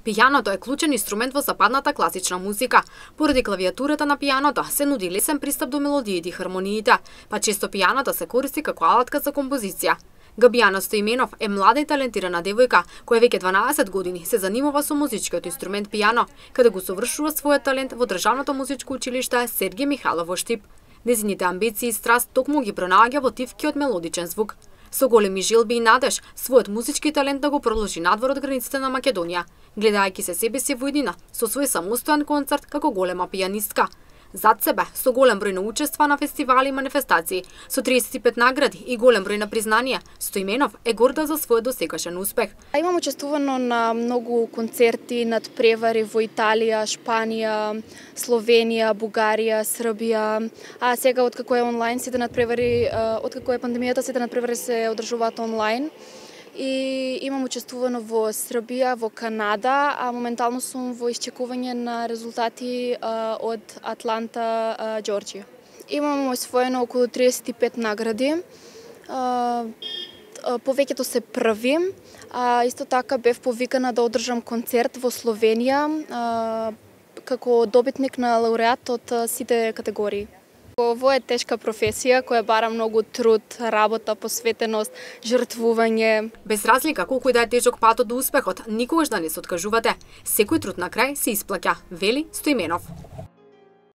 Пијаното е клучен инструмент во западната класична музика. Поради клавиатурата на пијаното се нуди лесен пристап до мелодиите и хармониите, па често пијаното се користи како алатка за композиција. Габијана Стоименов е млада и талентирана девојка која веќе 12 години се занимава со музичкиот инструмент пијано, каде го совршува својот талент во Државното музичко училиште Сергиј Михайлов во Штип. Нејзините амбиции и страст токму ги пронаоѓа во тивкиот мелодичен звук. Со големи жилби и надеж, својот музички талент да го продолжи надвор од границите на Македонија, гледајќи се себе си во иднина со свој самостоен концерт како голема пијанистка. Зад себе, со голем број на учества на фестивали и манифестации, со 35 награди и голем број на признанија, Стоименов е горда за својот досегашен успех. Имам учествувано на многу концерти, надпревари во Италија, Шпанија, Словенија, Бугарија, Србија, а сега откако е онлайн сите надпревари, откако е пандемијата, сите надпревари се одржуваат онлайн. И имам учествувано во Србија, во Канада, а моментално сум во исчекување на резултати од Атланта, Џорџија. Имам освоено околу 35 награди. Повеќето се први. Исто така бев повикана да одржам концерт во Словенија како добитник на лауреат од сите категории. Ово е тешка професија која бара многу труд, работа, посветеност, жртвување. Без разлика колку и да е тежок патот до успехот, никогаш да не се откажувате. Секој труд на крај се исплаќа, вели Стоименов.